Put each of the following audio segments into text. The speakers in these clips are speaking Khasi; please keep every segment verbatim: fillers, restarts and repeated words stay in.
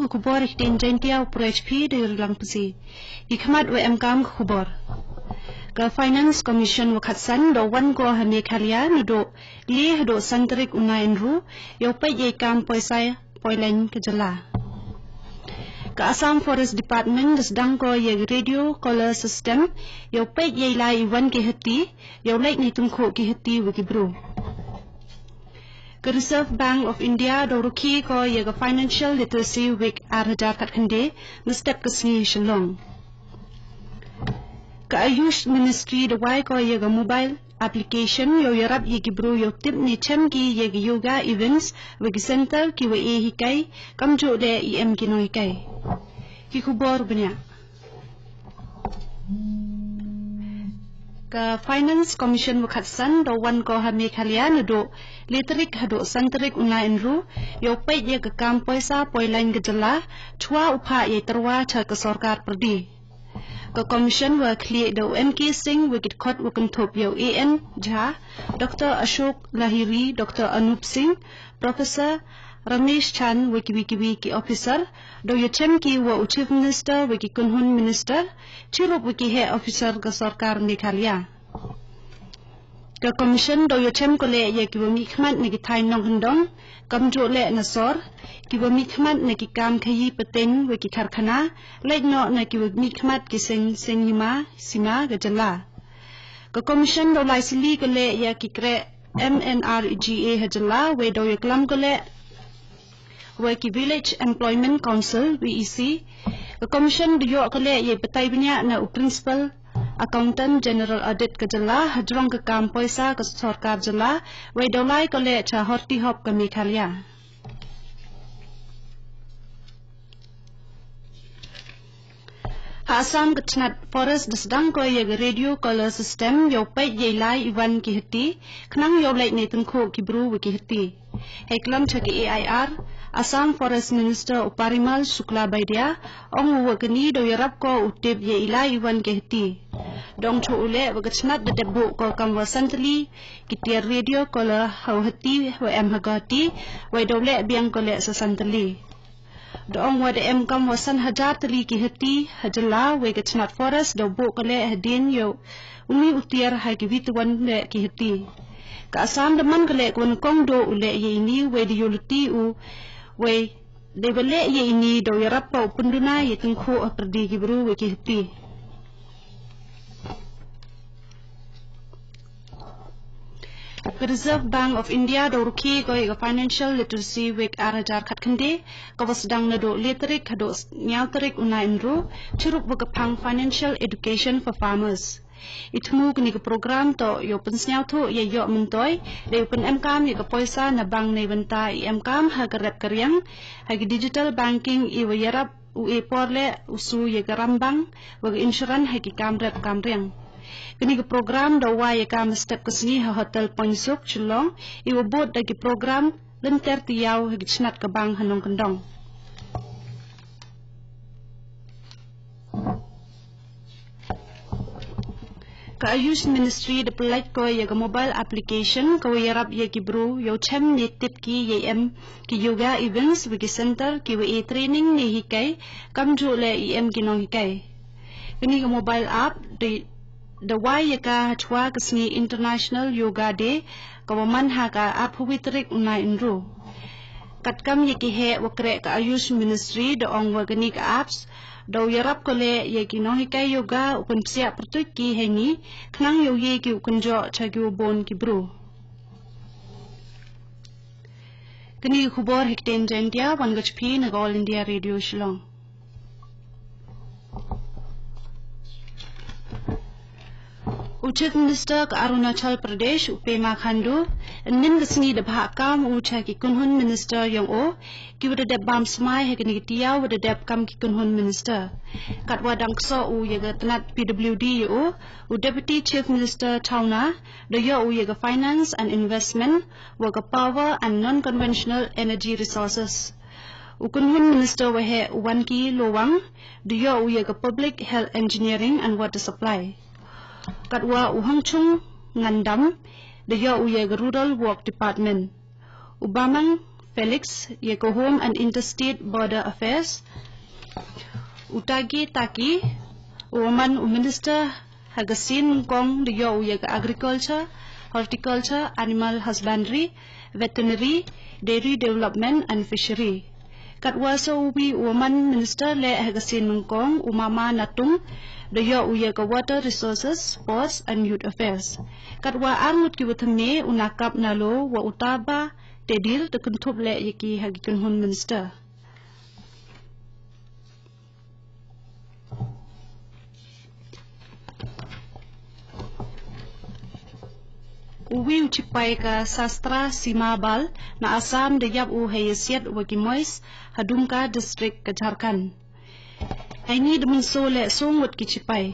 Khubor ha ktien Jaiñtia, u Prech P. Dei Rlang Psi. Ki khmat wa em kam khubor. Ka Finance Commission wa khatsan da wan ko ha Meghalaya naduh le haduh san tarik u Naiynru, yow peit yei kam poisa poilain ka jylla. Ka Assam Forest Department da sdang ko ya ka radio collar system, yow peit yei lai i wan ki hati, yow leit nei tyngkhuh ki hati wa ki bru. Ka Reserve Bank of India da rukhi ko ya ka Financial Literacy Week ar hajar khatkhynde, mynstep ka sngi Shillong. Ka Ayush Ministry da wai ko ya ka mobile application yow yarap ya ki bru yow tip ne chem ki ya ki yoga events wa ki center ki wa e hikai, kamjooh le i em ki nonghikai. Ki khubor bniah. Ka Finance Commission wa khatsan da wan ko ha Meghalaya naduh le tarik haduh san tarik u Naiynru, yow peit ya ka kam poisa poilain ka jylla, chwa u phah yei tyrwa cha ka sorkar pyrdi. Ka Commission wa khlieh da u N K Singh wa ki dkhot wa kynthup ya u A N Jha, Doctor Ashok Lahiri, Doctor Anup Singh, Professor Ramesh Chand wa kiwi kiwi ki officer, da ya chem ki wa u Chief Minister wa ki kynhun minister, chirup wa ki heh officer ka sorkar Meghalaya. Ka Commission da ya chem ko le ya ki wa mih khmat na ki thaiñ nongkyndong, kamjooh le na sor, ki wa mih khmat na ki kam khayi pateng wa ki karkhana, leit noh na ki wa mih khmat ki seng seng hima sima ka jylla. Ka Commission da lai sili ko le ya ki kreh M N R G A ha jylla, wei da ya klam ko le wa ki Village Employment Council, V E C. Ka Commission da yoh ko le yei batai bniah na u Principal Accountant General Audit ka jylla hajrong ka kam poisa ka sorkar jylla, wei da lai ko le cha Horti Hop ka Meghalaya. Ha Assam ka tnat Forest da sdang ko ya ka radio collar system yow peit yei lai i wan ki hati, khnang yow leit nei tyngkhuh ki bru wa ki hati. Hei klam cha ka A I R, Assam Forest Minister u Parimal Sukla Baidia, ong u wa kani da yarap ko u tip yei lai i wan ki hati. Da ong cha u le wa ka tnat da dep buh ko kam wa san tylli ki tiar radio collar ha u hati wa em ha Guwahati, wei da u le biang ko le sa san tylli. Da ong wa da em kam wa san hajar tylli ki hati ha jylla, wei ka tnat Forest da buh ko le hadien yow uni u tiar ha ki wi tawan le ki hati. Ka Assam da man ko le ka wa nyngkong da u le ya ini, wei da yow luti u, wei da wa le ya ini da u yarap pa u pynduna ya tyngkhuh ha pyrdi ki bru wa ki hati. Ka Reserve Bank of India da rukhi ko ya ka Financial Literacy Week ar hajar khatkhynde, ka wa sdang naduh le tarik haduh ynñiaw tarik u Naiynru, chirup wa ka phang Financial Education for Farmers. I thmu kani ka program toh yow pynsñiawthuh ya yoh myntoi, da yow pynemkam ya ka poisa na bank neibynta i emkam ha ka rep ka riang, ha ki digital banking, i wa yarap u e por le u su ya ka rambang wa ka insurance ha ki kam rep kam riang. Kani ka program da wai ya ka mynstep ka sngi ha Hotel Poinsuk, Shillong, i wa bud da ki program lynter tayaaw ha ki tnat ka bank ha nongkyndong. Ka Ayush Ministry da pyllait ko ya ka mobile application ka wa yarap ya ki bru yow chem ne tip ki yei em ki yoga events wa ki center ki wa e training ne hikai, kamjooh le i em ki nonghikai. Kani ka mobile app da, da wai ya ka hachwa ka sngi International Yoga Day, ka wa man ha ka arphew wi tarik u Naiynru. Katkam ya ki heh wa kreh ka Ayush Ministry da ong wa kani ka apps da u yarap ko le ya ki nonghikai yoga u pynpsiah pyrtuit ki heini, khnang yow ye ki u kynjoh cha ki wa bun ki bru. Kani ka khubor ha ktien Jaiñtia, wan ka cha phi na ka All India Radio Shillong. U Chief Minister ka Arunachal Pradesh, u Pema Khandu, ynnin ka sngi da bhah kam u cha ki kynhun minister yong u, ki wa da dep bam smai ha kani ka tayaaw wa da dep kam ki kynhun minister. Katwa dang ksoh u ya ka tnat P W D ya u, u Deputy Chief Minister Chawna, da yoh u ya ka Finance and Investment, wa ka Power and Non-Conventional Energy Resources. U kynhun minister wa heh u Wanki Lowang, da yoh u ya ka Public Health Engineering and Water Supply. Katwa u Hangchung Ngandam, da yoh u ya ka Rural Work Department. U Bamang Felix ïa ka Home and Interstate Border Affairs. U Tage Taki u man u Minister ha ka sien nyngkong da ïoh u ïa ka Agriculture, Horticulture, Animal Husbandry, Veterinary, Dairy Development and Fishery. Katwa sa uwi u man Minister leh ha ka sien nyngkong u Mama Natung da ïoh u ïa ka Water Resources, Sports and Youth Affairs. Katwa ar ngut ki wa thymme u Nakap Nalo wa u Taba Tedir da kynthup leh ïa ki ha ki kynhun Minister. Uwi u chipai ka Sastra Sima Bal na Assam da ïap u ha ïasiat wa ki Mois ha Dumka District ka Jharkhand. Haini da mynsaw leh song wat ki chipai.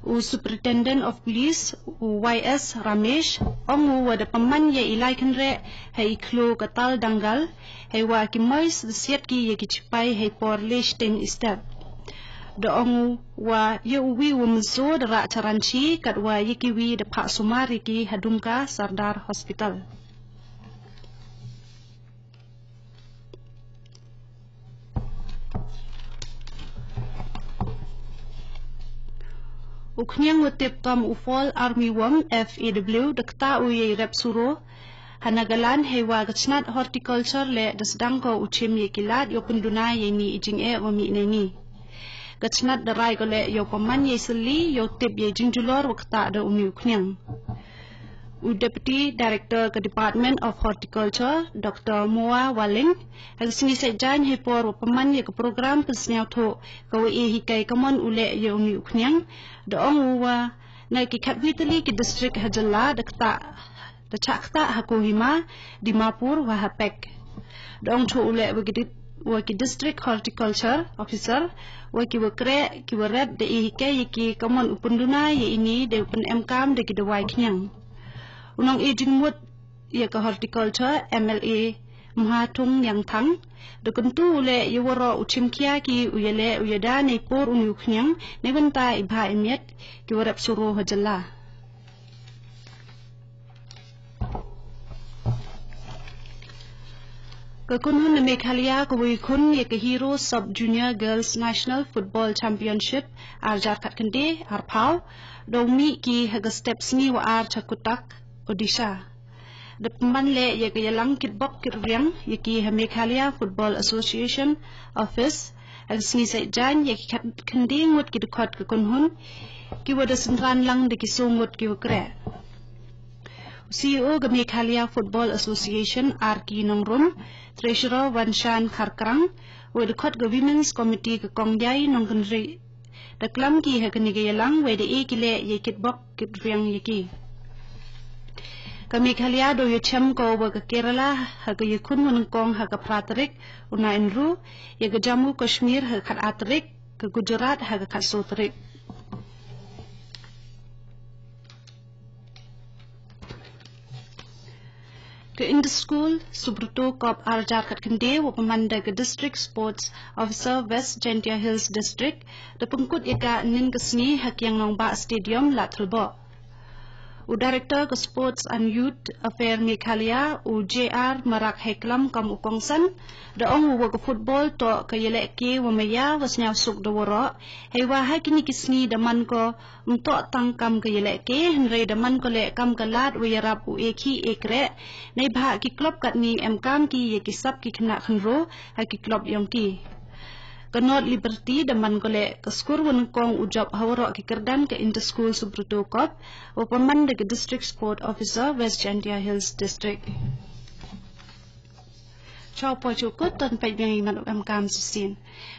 U Superintendent of Police u Y S Ramesh ong u wa da pynman ïa i lai kynreh ha i khloo ka Tal Dangal, hei wa ki Mois da siat ki ïa ki chipai hei por le shiteng i step. Da ong u wa ïa uwi u mynsaw da rah charan chi, katwa ïa kiwi da phah sumar ïa ki ha Dumka Sardar Hospital. U khñiang wa tip kam u Fall Armyworm, F A W, da ktah u ïa i rep suro ha Nagaland hei wa ka chnat horticulture leh da sdang ko u chim ïa ki lad ïoh pynduna ïa ini i jingeh wa mih na ini. Ka chnat da rai ko leh ïoh pynman ïa i sylli ïoh tip ïa i jingjulor wa ktah da uni u khñiang. U Deputy Director ka Department of Horticulture, Doctor Moa Waling, ha ka sngi Saitjaiñ hei por wa pynman ïa ka program pynsñiawthuh ka wa e hikai kamon u leh ïa uni u khñiang, da ong u wa na ki khatwi tylli ki district ha jylla da ktah, da chah ktah ha Kohima, Dimapur wa ha Pek. Da ong chuh u leh wa ki di-, wa ki District Horticulture Officer wa ki wa kreh ki wa rep da e hikai ïa ki kamon u pynduna ïa ini da u pynemkam da ki dawai khñiang. U nong e jingmut ïa ka horticulture, M L A Mhathung Nyangthang, da kyntu u leh ïa waroh u chimkhia ki u ïaleh u ïada nei por uni u khñiang nei bynta i bha i miat ki wa rep suro ha jylla. Ka kynhun na Meghalaya ka wa i khun ïa ka Hero Sub Junior Girls National Football Championship ar hajar khatkhynde arphaw, da u mih ki ha ka step sngi wa ar cha Cuttack, Odisha. Da pynman leh ïa ka ïalang kitbok kitriang ïa ki ha Meghalaya Football Association Office ha ka sngi Saitjaiñ ïa ki khat-, khatkhynde ngut ki dkhot ka kynhun ki wa da synran lang da ki soo ngut ki wa kreh. U C E O ka Meghalaya Football Association, R K Nongrum, Treasurer Wanshan Kharkrang, wa dkhot ka Women's Committee ka Kong Yai Nongkynrih, da klam ki ha kane ka ïalang wei da e ki leh ïa kitbok kitriang ïa ki. Ka Meghalaya da u ïachem ko wa ka Kerala ha ka ïakhun wa nyngkong ha ka phra tarik u Naiynru, ïa ka Jammu Kashmir ha ka khatar tarik, ka Gujarat ha ka khatsoo tarik. Ka Inter-School Subroto Cup ar hajar khatkhynde wa pynman da ka District Sports Officer West Jaintia Hills District da pynkut ïa ka ynnin ka sngi ha Kiang Nangbah Stadium, Ladthadlaboh. U Director ka Sports and Youth Affair Meghalaya, u J R Marak, hei klam kam u kongsan, da ong u wa ka football toh ka ïalehke wa maya wa sñiawsuk da waroh, hei wa ha kine ki sngi da man ko ym toh tang kam ka ïalehke, hynrei da man ko leh kam ka lad wa ïarap u e khih e kreh, neibhah ki club katni em kam ki ïa ki sap ki khynnah khynroo ha ki club yong ki. Ka North Liberty da man ko leh ka skur wa nyngkong u jop ha waroh ki kyrdan ka Inter-School Subroto Cup, wa pynman da ka District Sport Officer West Jaintia Hills District. Chwa poi chukut, ton peit biang ïa ki mat wa emkam shisien.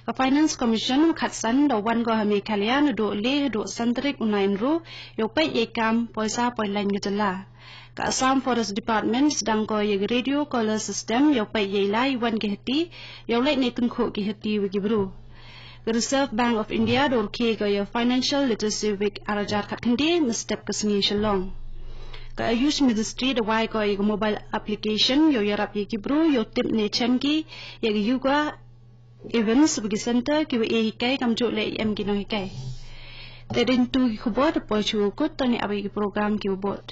Ka Finance Commission wa khatsan da wan ko ha Meghalaya naduh le haduh san tarik u Naiynru, ïa u peit ïa i kam poisa poilaiñ ka jylla. Ka Assam Forest Department sdang ko ïa ka Radio Collar System ïa u peit ïa i lai wan ki hati, ïa u leit ne tyngkhuh ki hati wa ki bru. Ka Reserve Bank of India da rkhie ko ïa Financial Literacy Week ar hajar khatkhynde mynstep ka sngi Shillong. Ka Ayush Ministry da wai ko ïa ka mobile application ïa u ïarap ïa ki bru ïa u tip ne chem ki ïa ka yoga events wa ki center ki wa e hikai kamjooh leh ïa em ki nonghikai. Te dang tu ki khubor da poi chukut, tang ïa ap ïa ki program ki wa bud.